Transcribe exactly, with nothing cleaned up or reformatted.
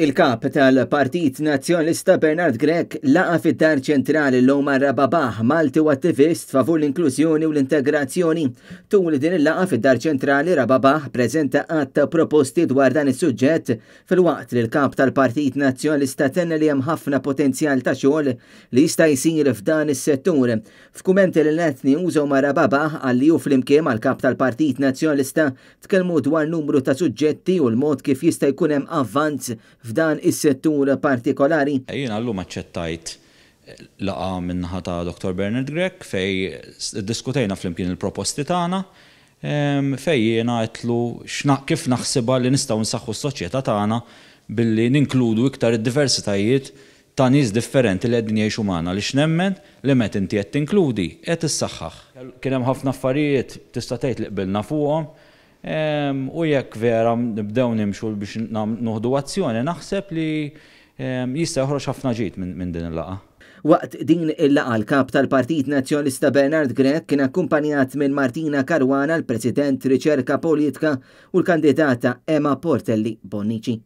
Il-kap tal-Partit Nazzjonalista Bernard Grech laqa fid-Dar Ċentrali l Omar Rababah, Malti u attivist favur l-inklużjoni u l-integrazzjoni. Tul din il-laqgħa fid-Dar Ċentrali, Rababah preżenta għadd ta' proposti dwar dan is-suġġett, filwaqt li l-kap tal-Partit Nazzjonalista tenna li hemm ħafna potenzjal ta' xogħol li jista' jsir f'dan is-settur. F'kummenti lil Net News, Omar Rababah qal li hu flimkien mal-kap tal-Partit Nazzjonalista tkellmu dwar numru ta' suġġetti u l-mod kif jista' jkun hemm avvanz f'dan is-settur partikolari. Jiena llum aċċettajt laqgħa min-naħa ta' Doktor Bernard Grech fejn diskutejna flimkien il-proposti tagħna, fejn jiena għedtlu kif naħsibha li nistgħu nsaħħu s-soċjetà tagħna billi ninkludu iktar id-diversitajiet ta' nies differenti li qegħdin jgħixu magħna, li x'nemmen li meta inti qed tinkludi qed issaħħaħ. Kien hemm ħafna affarijiet tista' tgħid li qbilna fuqhom, u jekk vera nibdew nimxu biex noħdu azzjoni, naħseb li jista' joħroġ ħafna ġid minn din il-laqgħa. Waqt din il-laqgħa, l-kap tal-Partit Nazzjonalista Bernard Grech kien akkumpanjat minn Martina Caruana, l-President Riċerka Politika, u l-kandidata Emma Portelli Bonnici.